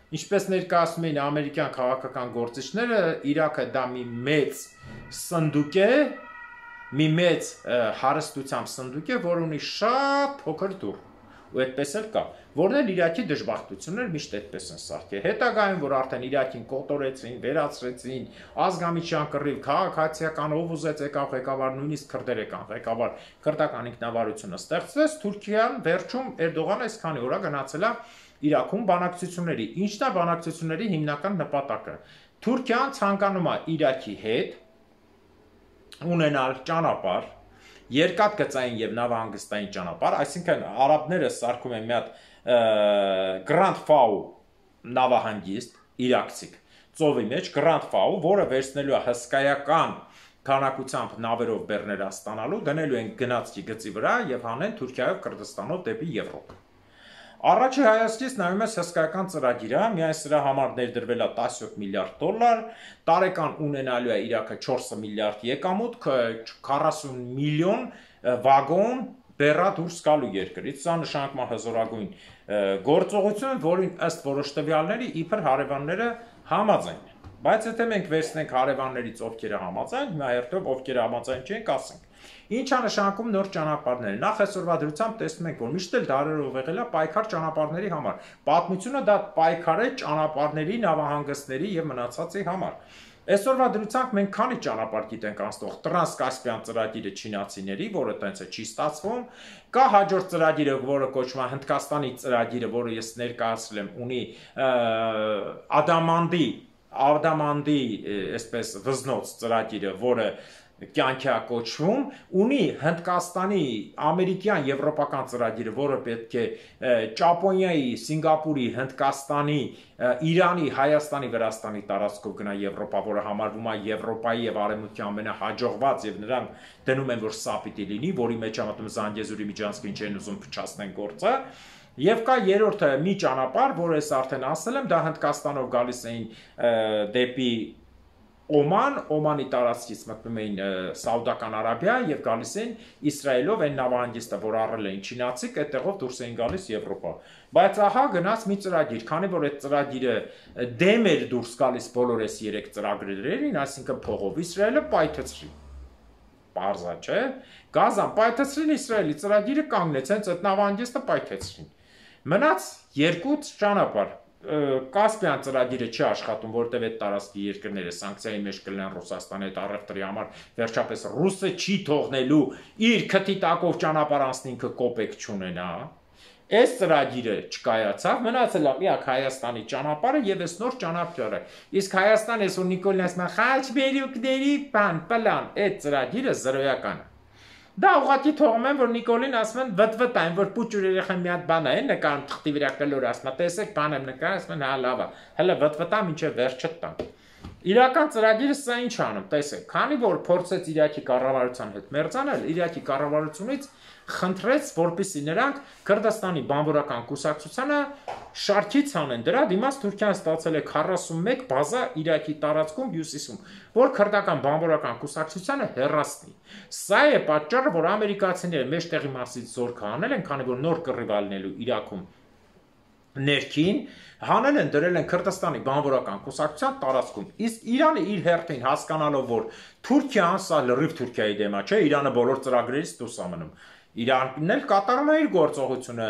[SPEAKER 1] Ինչպես ներկայացնում էին ամերիկյան քաղաքական գործիչները, Իրաքը դա մի մեծ սնդուկ է, մի մեծ հարստությամբ սնդուկ է, որ ունի շատ փոքր դուռ, ու այդպես էլ կա, որն էլ Իրաքի դժբախտություններ միշտ այդպես են սարքել։ Հետագայում, որ արդեն Իրաքին կոտորեցին, վերացրեցին, ազգամիջյան կռիվ, քաղաքացիական ով ուզեց եկավ ղեկավար, նույնիսկ քրդեր եկան ղեկավար, քրդական ինքնավարությունը ստեղծվեց, Թուրքիան վերջում Էրդողանը այսքանի օր գնացել է Իրաքում բանակցությունների, ինչն է բանակցությունների հիմնական նպատակը։ Թուրքիան ցանկանում է Իրաքի հետ ունենալ ճանապարհ, երկաթգծային եւ նավահանգստային ճանապարհ, այսինքն արաբները սարքում են մի հատ Grand Fao նավահանգիստ իրաքցիք ծովի մեջ Grand Fao, որը վերցնելու է հսկայական քանակությամբ նավերով բեռներ ստանալու, դնելու են գնացքի գծի վրա եւ հանեն Թուրքիայով Կրդստանով դեպի Եվրոպա։ Առաջի հայացքից նայում ես հսկայական ծրագիրը, միայն սրա համար ներդրվել է 17 միլիարդ դոլար, տարեկան ունենալու է Իրաքը 4 միլիարդ եկամուտ, 40 միլիոն վագոն բեռա դուրս գալու երկրից, սա նշանակում է հզորագույն գործողություն, որին ըստ որոշ տվյալների իբր հարևանները համաձայն են։ Բայց եթե մենք վերցնենք հարևաններից ովքերը համաձայն, հիմա հերթով ովքերը համաձայն չենք, ասենք։ Ինչ է նշանակում նոր ճանապարհներ։ Նախ այսօրվա դրությամբ տեսնում ենք, որ միշտ էլ դարերով եղել է պայքար ճանապարհների համար։ Պատմությունը դա պայքար է ճանապարհների, նավահանգստների եւ մնացածի համար։ Այսօրվա դրությամբ մենք քանի ճանապարհ գիտենք անցնող Տրանսկասպիան ծրագիրը չինացիների, որը տենց է չի ստացվում, կա հաջորդ ծրագիրը, որը կոչվում է Հնդկաստանի ծրագիրը, որը ես ներկայացրել եմ, ունի Ադամանդի, այսպես վզնոց ծրագիրը, որը կյանքի է կոչվում, ունի Հնդկաստանի, ամերիկյան, եվրոպական ծրագիրը, որը պետք է Ճապոնիայի, Սինգապուրի, Հնդկաստանի, Իրանի, Հայաստանի, Վրաստանի տարածքով գնա Եվրոպա, որը համարվում է Եվրոպայի եւ Արևմուտքի ամենահաջողված եւ նրանք դնում են, որ սա պիտի լինի, որի մեջ ամատում Զանգեզուրի միջանցքին չեն ուզում փչացնեն գործը։ Եվ կա երրորդը մի ճանապարհ, որը ես արդեն ասել եմ, դա Հնդկաստանով գալիս էին դեպի Օման, Օմանի տարածքից մտնում էին Սաուդական Արաբիա եւ գալիս էին Իսրայելով այն նավահանգիստը, որ առել էին չինացիք, այդտեղով դուրս էին գալիս Եվրոպա։ Բայց ահա գնաց մի ծրագիր, քանի որ այդ ծրագիրը դեմ էր դուրս գալիս բոլոր այս 3 ծրագրերին, այսինքն փողով Իսրայելը պայթեցրին։ Պարզա, չէ՞։ Գազան պայթեցրին Իսրայելի ծրագիրը կանգնեց, հենց այդ նավահանգիստը պայթեցրին։ Մնաց 2 ճանապարհ։ Կասպիան ծրագիրը չի աշխատում, որտեղ այդ տարածքի երկրները սանկցիայի մեջ կլինեն Ռուսաստանի հետ առևտրի համար, վերջապես ռուսը չի թողնելու իր քթի տակով ճանապարհ անցնի ինքը կոպեկ չունենա։ Այս ծրագիրը չկայացավ, մնացել է միակ Հայաստանի ճանապարհը եւ այս նոր ճանապարհը։ Իսկ Հայաստանը այսօր Նիկոլին ասում է խաչմերուկների պլան, այդ ծրագիրը զրոյական է։ Դա ուղղակի թողում են, որ Նիկոլին ասում են վտվտային, որ պուճուր երեխան մի հատ բան է նկարում թղթի վրա կլոր ասում, տեսեք բան եմ նկարում, ասում են հա լավ է, հələ վտվտա մինչև վերջը տան։ Իրական ծրագիրը սա ինչ անում, տեսեք, քանի որ փորձեց Իրաքի կառավարության հետ մերձանել, Իրաքի կառավարությունից խնդրեց, որպեսզի նրանք Քրդստանի բանվորական կուսակցությանը շարքից անեն։ Դրա դիմաց Թուրքիան ստացել է 41 բազա Իրաքի տարածքում հյուսիսում, որ քրդական բանվորական կուսակցությանը հեռացնի։ Սա է պատճառը, որ ամերիկացիները մեջտեղի մասից զորք հանել են, քանի որ նոր կռիվ ալնելու Իրաքում ներքին հանել են դրել են Քրդստանի բանվորական կուսակցության տարածքում։ Իսկ Իրանը իր հերթին հասկանալով, որ Թուրքիան սա լրիվ Թուրքիայի դեմ է, չէ, Իրանը բոլոր ծրագրերից դուրս է մնում։ Իրանն էլ կատարում է իր գործողությունը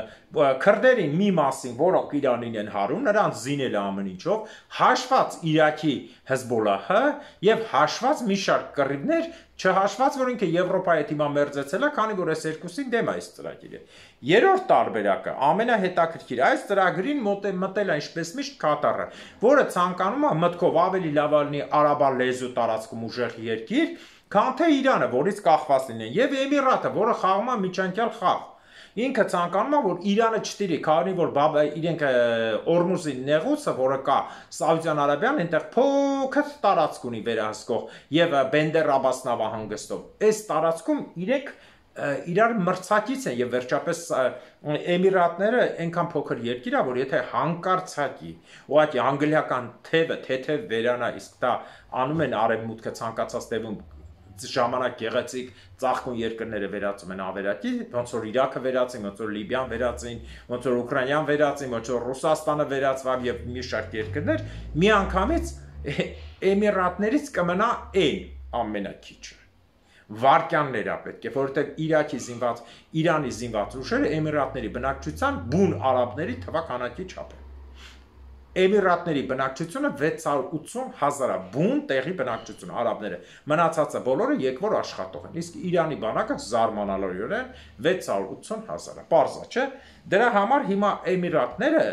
[SPEAKER 1] քրդերին մի մասին, որոնք Իրանին են հարում, նրանց զինել է ամեն ինչով, հաշված Իրաքի Հեզբոլլահը եւ հաշված մի շարք կռիվներ, չհաշված, որ ինքը Եվրոպայի հետ հիմա մերձեցել է, քանի որ այս երկուսին դեմ է այս ծրագիրը։ Երրորդ տարբերակը ամենահետաքրքիր, այս ծրագրին մտել է ինչպես միշտ Կատարը, որը ցանկանում է մտքով ավելի լավ լինի արաբան լեզու տարածքում ուժեղ երկիր, քան թե Իրանը, որից կախված լինեն, եւ Էմիրատը, որը խաղում է միջանկյալ խաղ։ Ինքը ցանկանում է, որ Իրանը չտիրի, քանի որ իրենք Օրմուզի նեղուցը, որը կա Սաուդյան Արաբիան, այնտեղ փոքր տարածք ունի վերահսկող եւ Բենդեր Աբաս նավահանգստով։ Այս տարածքում իրենք իրար մրցակից են եւ վերջապես Էմիրատները այնքան փոքր երկիր է, որ եթե հանկարծակի ուղղակի անգլիական թեթև վերանա, իսկ դա անում են արևմուտքը ցանկացած դեպքում ժամանակ գեղեցիկ ծաղկուն երկրները վերածում են ավերակի, ոնց որ Իրաքը վերածին, ոնց որ Լիբիան վերածին, ոնց որ Ուկրաինան վերածին, ոնց որ Ռուսաստանը վերածվավ եւ մի շարք երկրներ, միանգամից Էմիրատներից կմնա այն ամենակիչը։ Վարկյաններ է պետք է, որովհետեւ Իրանի զինված ուժերը Էմիրատների բնակչության բուն արաբների թվականակի չափ է։ Էմիրատների բնակչությունը 680,000 բուն տեղի բնակչություն արաբները, մնացածը բոլորը եկվոր աշխատող են, իսկ Իրանի բանակը զարմանալիորեն 680,000, պարզ է, չէ՞։ Դրա համար հիմա Էմիրատները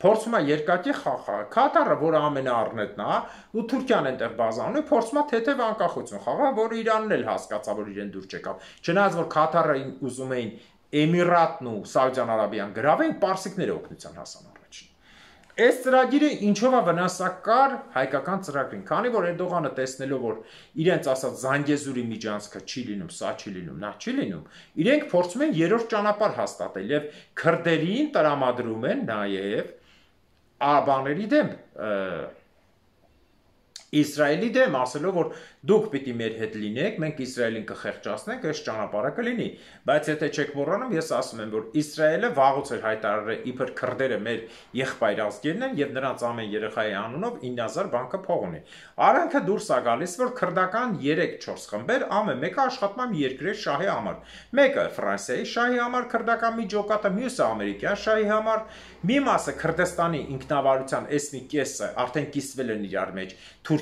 [SPEAKER 1] փորձում է երկակի խաղալ, Կատարը, որը ամենաառնետն է, ու Թուրքիան այնտեղ բազանում է, փորձում է թեթև անկախություն խաղալ, որը Իրանն էլ հասկացավ, որ իրեն դուր չեկավ։ Չնայած որ Կատարը ուզում էին Էմիրատն ու Սաուդյան Արաբիան գրավեն, պարսիկները օգնության հասան առաջին։ Այս ծրագիրը ինչով է վնասակար հայկական ծրագրին, քանի որ Էրդողանը տեսնելով, որ իրենց ասած Զանգեզուրի միջանցքը չի լինում, սա չի լինում, նա չի լինում, իրենք փորձում են երրորդ ճանապարհ հաստատել եւ քրդերին տրամադրում են նաեւ արաբաների դեմ Իսրայելի դեմ, ասելով, որ դուք պիտի մեր հետ լինեք, մենք Իսրայելին կխեղճացնենք, այս ճանապարհը կլինի, բայց եթե չեք մոռանում, ես ասում եմ, որ Իսրայելը վաղուց էր հայտարարել, իբր քրդերը մեր եղբայր ազգերն են եւ նրանց ամեն երեխայի անունով 9000 բանկը փող ունի։ Արանքը դուրս է գալիս, որ քրդական 3-4 խմբեր, ամեն մեկը աշխատում է երկրի շահի համար։ Մեկը Ֆրանսիայի շահի համար քրդական մի ջոկատը, մյուսը ամերիկյան շահի համար, մի մասը Քրդստանի ինքնավարության այս մի կեսը արդեն կիսվել են իրար մեջ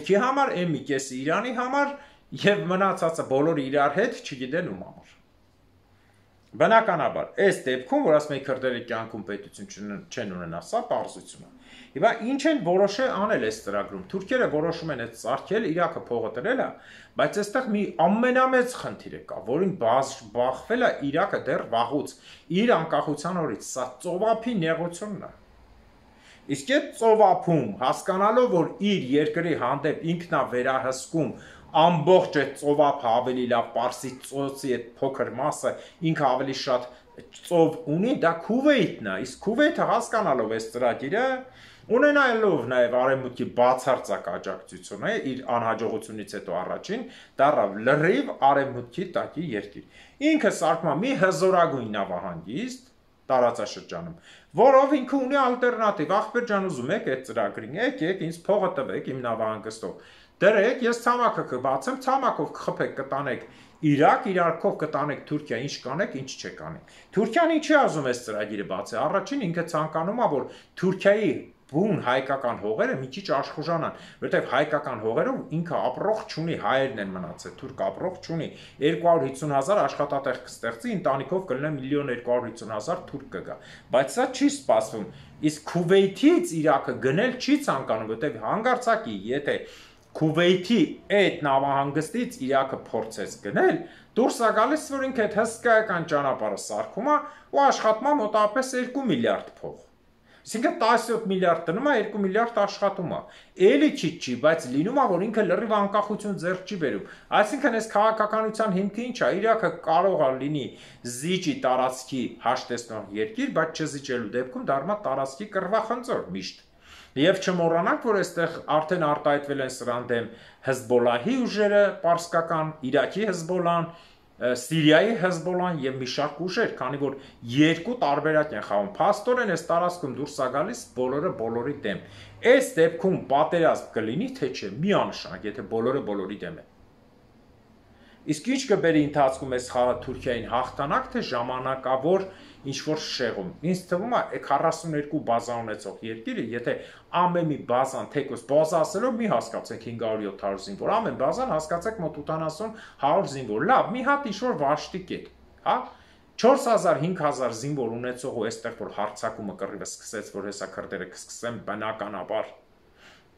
[SPEAKER 1] Թուրքի համար, այն մի կեսը Իրանի համար եւ մնացածը բոլորը իրար հետ չգիտեն ում համար։ Բնականաբար, այս դեպքում, որ ասում են քրդերի կյանքում պետություն չեն ունենա, սա պարզություն է։ Հիմա ինչ են որոշել անել այս ծրագրում։ Թուրքերը որոշում են այդ սարքել, Իրաքը փողը տրել է, բայց այստեղ մի ամենամեծ խնդիր կա, որին բախվել է Իրաքը դեռ վաղուց իր անկախության օրից, սա ծովափի նեղությունն է։ Իսկ այդ ծովափում հասկանալով, որ իր երկրի հանդեպ ինքն է վերահսկում ամբողջ այդ ծովափը ավելի լավ Պարսից ծոցի այդ փոքր մասը ինքը ավելի շատ ծով ունի, դա Քուվեյթն է, իսկ Քուվեյթը հասկանալով այս ծրագիրը ունենալով նաև արևմուտքի բացարձակ աջակցությունը իր անհաջողությունից հետո առաջին դառավ լրիվ արևմուտքի տակի երկիր։ Ինքը սարքում է մի հզորագույն նավահանգիստ տարածաշրջանում, որով ինքը ունի ալտերնատիվ, ախպեր ջան ուզում եք այդ ծրագրին, եկեք ինձ փողը տվեք իմ նավահանգստով, դրեք, ես ցամաքը կբացեմ, ցամաքով կխփեք, կտանեք Իրաք, Իրաքով կտանեք Թուրքիա, ինչ կանեք, ինչ չեք անեք։ Թուրքիան ինչի ազում է ծրագիրը բացի, առաջին ինքը ցանկանում է, որ Թուրքիայի բուն հայկական հողերը մի քիչ աշխուժանան, որովհետև հայկական հողերով ինքը ապրող չունի, հայերն են մնացել, թուրք ապրող չունի, 250,000 աշխատատեղ կստեղծի, ընտանիքով կլինի 1,250,000 թուրք կգա, բայց սա չի սպասվում, իսկ Քուվեյթից Իրաքը գնել չի ցանկանում, որովհետև հանգարցակի, եթե Քուվեյթի այդ նավահանգստից Իրաքը փորձեց գնել, դուրս է գալիս, որ ինքը այդ հսկայական ճանապարհը սարքում է ու աշխատում է մոտավորապես 2 միլիարդ փող։ Այսինքն 17 միլիարդ տնում է, 2 միլիարդ աշխատում է։ Էլի քիչ չի, բայց լինում է, որ ինքը լրիվ անկախություն ձեռք չի բերում։ Այսինքն այս քաղաքականության հիմքը ինչ է։ Իրաքը կարող է լինի զիջի տարածքի հաշտեցնող երկիր, բայց չզիջելու դեպքում դառնա տարածքի կռվախնձոր միշտ։ Եվ չմոռանանք, որ այստեղ արդեն արտահայտվել են սրան դեմ Հեզբոլլահի ուժերը, պարսկական, Իրաքի Հեզբոլլահն, Սիրիայի Հեզբոլան եւ մի շարք ուժեր, քանի որ երկու տարբերակ են խաղում։ Փաստորեն այս տարածքում դուրս է գալիս բոլորը բոլորի դեմ։ Այս դեպքում պատերազմ կլինի թե չէ, միանշանակ, եթե բոլորը բոլորի դեմ են։ Իսկ ինչ կբերի ընթացքում այս խաղը Թուրքիային հաղթանակ, թե ժամանակավոր ինչ-որ շեղում։ Ինձ թվում է 42 բազա ունեցող երկիրը, եթե ամեն մի բազան թեկուզ բազա ասելով մի հասկացեք 500-700 զինվոր, ամեն բազան հասկացեք մոտ 80-100 զինվոր։ Լավ, մի հատ ինչ-որ վաշտի կետ, հա։ 4000-5000 զինվոր ունեցող ու այստեղ որ հարձակումը կռիվը սկսեց, որ հեսա քրդերը կսկսեն բնականաբար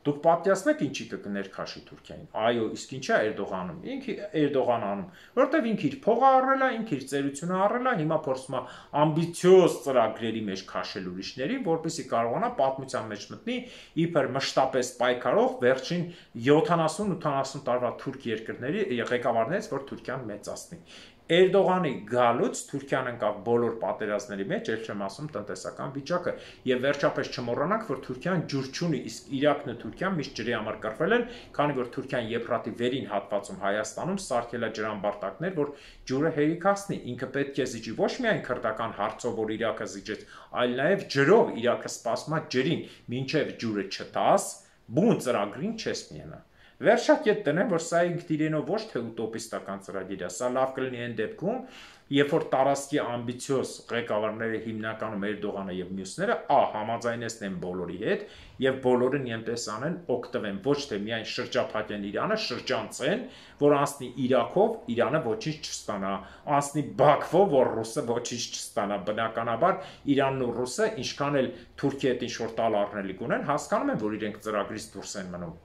[SPEAKER 1] Դուք պատկերացնեք ինչի կներքաշի Թուրքիային։ Այո, իսկ ինչա Էրդողանում։ Ինքը Էրդողան անում, որտեվ ինքը իր փողը առել է, ինքը իր ծերությունը առել է, հիմա փորձում է ամբիցիոզ ծրագրերի մեջ քաշել ուրիշներին, որպեսզի կարողանա պատմության մեջ մտնի իբր մշտապես պայքարող վերջին 70-80 տարվա թուրք երկրների ղեկավարներից, որ Թուրքիան մեծացնի։ Էրդողանի գալուց Թուրքիան ընկավ բոլոր պատերազմների մեջ, ել չեմ ասում տնտեսական վիճակը, եւ վերջապես չմոռանանք, որ Թուրքիան ջուր չունի, իսկ Իրաքն ու Թուրքիան միշտ ջրի համար կռվել են, քանի որ Թուրքիան Եփրատի վերին հատվածում Հայաստանում սարքել է ջրամբարտակներ, որ ջուրը հերիքացնի, ինքը պետք է զիջի ոչ միայն քրդական հարցով, որ Իրաքը զիջեց, այլ նաեւ ջրով Իրաքը սպասում է ջրին, մինչեւ ջուրը չտաս, բուն ծրագրին չես միանա։ Վերջակետ տնեմ, որ սա ինքն իրենով ոչ թե ուտոպիստական ծրագիր է, սա լավ կլինի այն դեպքում, երբ որ տարածքի ամբիցիոզ ղեկավարները հիմնականում Էրդողանը եւ մյուսները համաձայնեցնեն բոլորի հետ եւ բոլորը նույնպես անեն օգտվեն ոչ թե միայն շրջափակեն Իրանը, շրջանցեն, որ անցնի Իրաքով, Իրանը ոչինչ չստանա, անցնի Բաքվով, որ ռուսը ոչինչ չստանա, բնականաբար Իրանն ու ռուսը ինչքան էլ Թուրքիայի հետ ինչ-որ տալ առնելիք ունեն, հասկանում են, որ իրենք ծրագրից դուրս են մնում։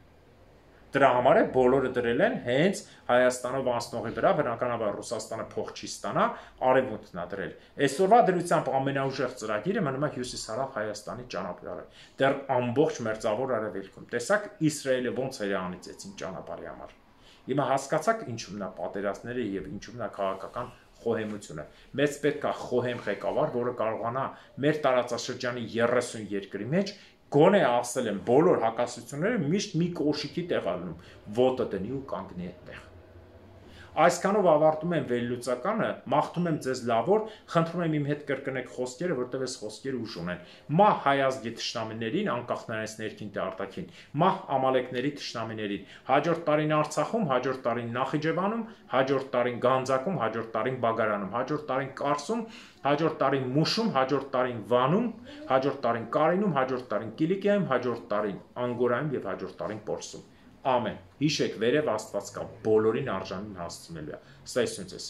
[SPEAKER 1] Դրա համար է բոլորը դրել են հենց Հայաստանով անցնողի վրա, բնականաբար Ռուսաստանը փող չի ստանա, արևմուտքն է դրել։ Այսօրվա դրությամբ ամենաուժեղ ծրագիրը մնում է հյուսիսարավ Հայաստանի ճանապարհը։ Դեռ ամբողջ մերձավոր արևելքում։ Տեսակ Իսրայելը ոնց էր անիծեցին ճանապարհի համար։ Հիմա հասկացաք ինչու՞մն է պատերազմները եւ ինչու՞մն է քաղաքական խոհեմությունը։ Մեծ պետք է խոհեմ ղեկավար, որը կարողանա մեր տարածաշրջանի 30 երկրի մեջ գոնե ասել են բոլոր հակասությունները միշտ մի կոշիկի տեղ ալնում, ոտը դնի ու կանգնի այդտեղ։ Այսքանով ավարտում եմ վերլուծականը, մաղթում եմ ձեզ լավոր, խնդրում եմ իմ հետ կրկնեք խոսքերը, որտեղ այս խոսքերը ուժ ունեն։ Մահ հայազգի թշնամիներին, անկախ նրանից ներքին թե արտաքին, մահ ամալեկների թշնամիներին, հաջորդ տարին Արցախում, հաջորդ տարին Նախիջևանում, հաջորդ տարին Գանձակում, հաջորդ տարին Բագարանում, հաջորդ տարին Կարսում, հաջորդ տարին Մուշում, հաջորդ տարին Վանում, հաջորդ տարին Կարինում, հաջորդ տարին Կիլիկիայում, հաջորդ տարին Անգորայում եւ հաջորդ տարին Պորսում։ Ամեն։ Հիշեք, վերև Աստված կա, բոլորին արժանին հասցնելու է։ Ստեսություն ձեզ։